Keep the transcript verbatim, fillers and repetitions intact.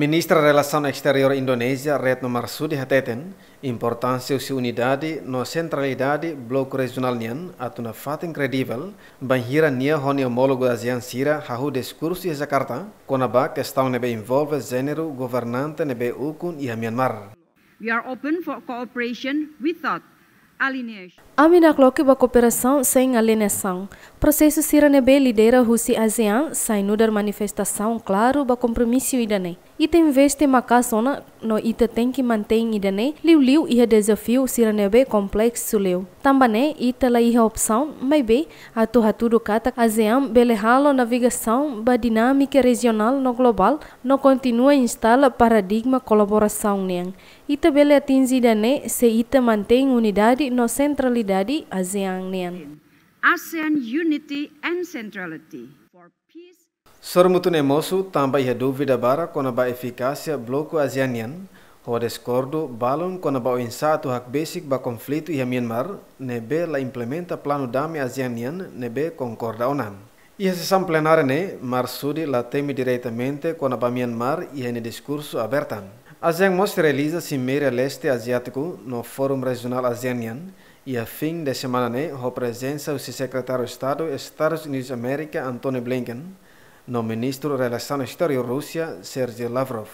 Ministra Relasaun Exteriór Indonézia, Retno Marsudi hateten, importánsia husi unidade no sentralidade bloku rejionál nian atu nafatin kredivel, bainhira nia ho nia omólogu ASEAN sira hahú diskursu iha Jakarta, kona-ba kestaun ne'ebé envolve jéneru governante ne'ebé ukun iha Myanmar. We are open for cooperation without alienation. Ami nakloke ba kooperasaun sein alienasaun. Prosesu sira ne'ebé lidera husi ASEAN sai nu'udar manifestasaun klaru ba kompromisu ida-ne'e. Ita investe maka'as ona no ita tenke mantein ida-ne'e liuliu iha dezafiu sira ne'ebé kompleksu liu. Tanba ne'e ita la iha opsaun, maibé atu hatudu katak ASEAN bele halo navigasaun ba dinámika rejionál no globál no kontinua instala paradigma kolaborasaun nian. Ita bele atinje ida-ne'e se ita mantein unidade no sentralidade ASEAN nian. ASEAN unity and centrality for peace. Sorumutu ne'e mosu tanba iha dúvida barak kona-ba efikásia bloku ASEAN nian, ho diskordu balun kona-ba oinsá atu hakbesik ba konflitu iha Myanmar, ne'ebé la implementa planu dame ASEAN nian ne'ebé konkorda ona. Iha sesaun plenária ne'e, Marsudi la temi diretamente kona-ba Myanmar iha nia diskursu aberta. ASEAN mós realiza Simeira Leste Aziátiku no Fórum Rejionál ASEAN nian iha fin de semana ne'e ho prezensa husi Sekretáriu Estadu Estadus Unidus Amérika, Antony Blinken, no Ministru Relasaun Exteriór Rúsia, Sergei Lavrov.